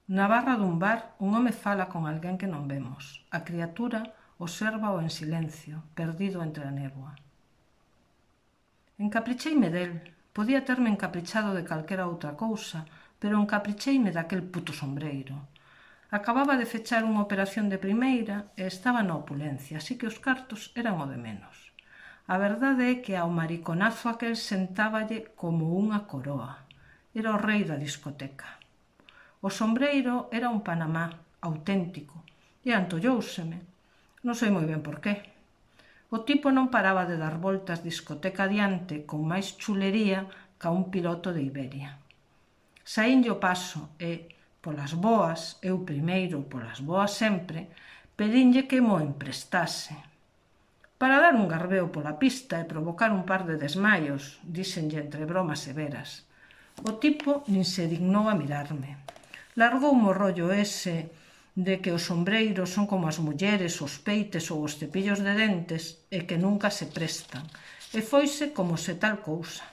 Na barra dun bar, un home fala con alguén que non vemos. A criatura obsérvao en silencio, perdido entre a néboa. Encapricheime del. Podía terme encaprichado de calquera outra cousa, pero encapricheime daquel puto sombreiro. Acababa de fechar unha operación de primeira e estaba na opulencia, así que os cartos eran o de menos. A verdade é que ao mariconazo aquel sentáballe como unha coroa. Era o rei da discoteca. O sombreiro era un Panamá, auténtico, e antollouseme. Non sei moi ben por qué. O tipo non paraba de dar voltas discoteca adiante con máis chulería ca un piloto de Iberia. Saínlle o paso e, polas boas, eu primeiro, polas boas sempre, pedinlle que mo emprestase. Para dar un garbeo pola pista e provocar un par de desmaios, díxenlle entre bromas severas. O tipo nin se dignou a mirarme. Largou o rollo ese de que os sombreiros son como as mulleres, os peites ou os cepillos de dentes e que nunca se prestan, e foise como se tal cousa.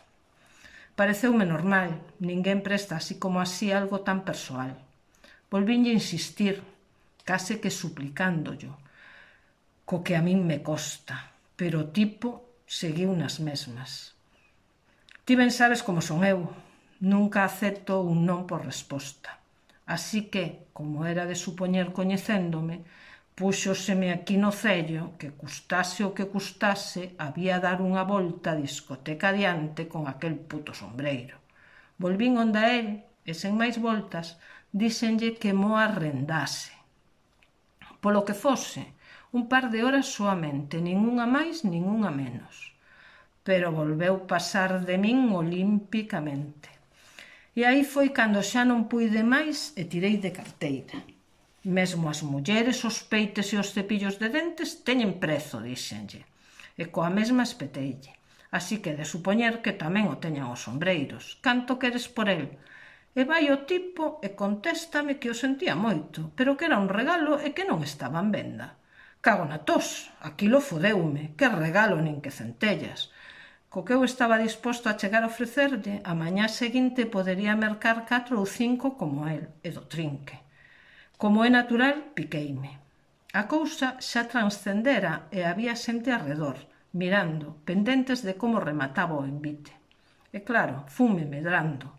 Pareceume normal, ninguén presta así como así algo tan persoal. Volvinlle insistir, case que suplicándollo, co que a min me costa, pero o tipo seguiu nas mesmas. Ti ben sabes como son eu, nunca acepto un non por resposta. Así que, como era de supoñer coñecéndome, púxoseme aquí no cello que custase o que custase había dar unha volta a discoteca adiante con aquel puto sombreiro. Volvín onda el e, sen máis voltas, díxenlle que mo arrendase. Polo que fose, un par de horas soamente, nin unha máis nin unha menos. Pero volveu pasar de min olímpicamente. E aí foi cando xa non puide máis e tirei de carteira. Mesmo as mulleres, os peites e os cepillos de dentes teñen prezo, díxenlle. E coa mesma espeteille. Así que de supoñer que tamén o teñan os sombreiros. Canto queres por el? E vai o tipo e contéstame que o sentía moito, pero que era un regalo e que non estaba en venda. Cago na tos, aquilo fodeume, que regalo nin que centellas. Co que eu estaba disposto a chegar a ofrecerlle, a mañá seguinte podería mercar 4 ou 5 como el, e do trinque. Como é natural, piqueime. A cousa xa transcendera e había xente arredor, mirando, pendentes de como remataba o envite. E claro, funme medrando.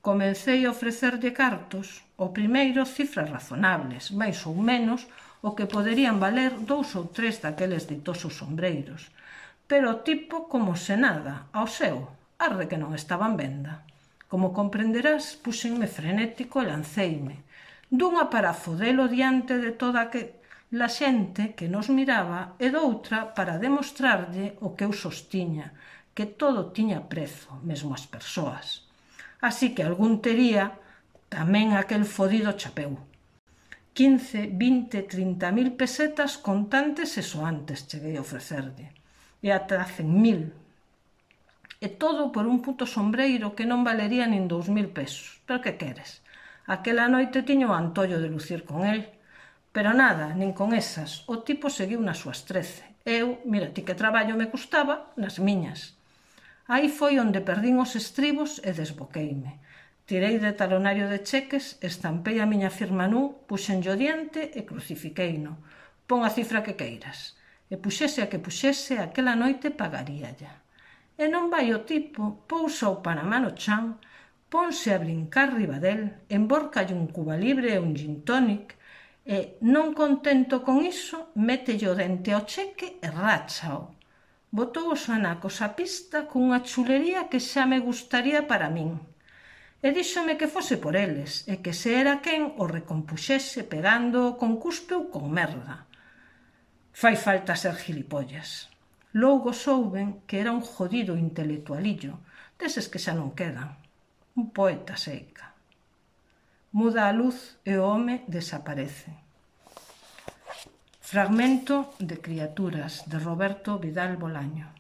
Comecei a ofrecerlle cartos, o primeiro cifras razonables, máis ou menos o que poderían valer 2 ou 3 daqueles ditosos sombreiros. Pero o tipo como se nada, ao seu, arde que non estaba en venda. Como comprenderás, puxenme frenético e lanceime. Dunha para fodelo diante de toda aquela xente que nos miraba e doutra para demostrarlle o que eu sostiña, que todo tiña prezo, mesmo as persoas. Así que algún tería tamén aquel fodido chapeu. 15, 20, 30.000 pesetas contantes e soantes cheguei a ofrecerlle. E ata 100.000. E todo por un puto sombreiro que non valería nin 2.000 pesos. Pero que queres? Aquela noite tiño o antollo de lucir con el. Pero nada, nin con esas. O tipo seguiu nas súas 13. Eu, mira ti que traballo me custaba, nas miñas. Aí foi onde perdín os estribos e desboqueime. Tirei de talonario de cheques, estampei a miña firma nun, puxenllo diante e crucifiqueino. Pon a cifra que queiras. E puxese a que puxese, aquela noite pagaríalla. E non vai o tipo, pousa o Panamá no chan, ponse a brincar riba del, emborcalle un cuba libre e un gin tonic, e, non contento con iso, mételle o dente ao cheque e ráchao. Botou os anacos á pista cunha chulería que xa me gustaría para min. E díxome que fose por eles, e que se era quen o recompuxese pegando con cuspe ou con merda. Fai falta ser gilipollas. Logo souben que era un jodido intelectualillo, deses que xa non quedan. Un poeta seica. Muda a luz e o home desaparece. Fragmento de Criaturas, de Roberto Vidal Bolaño.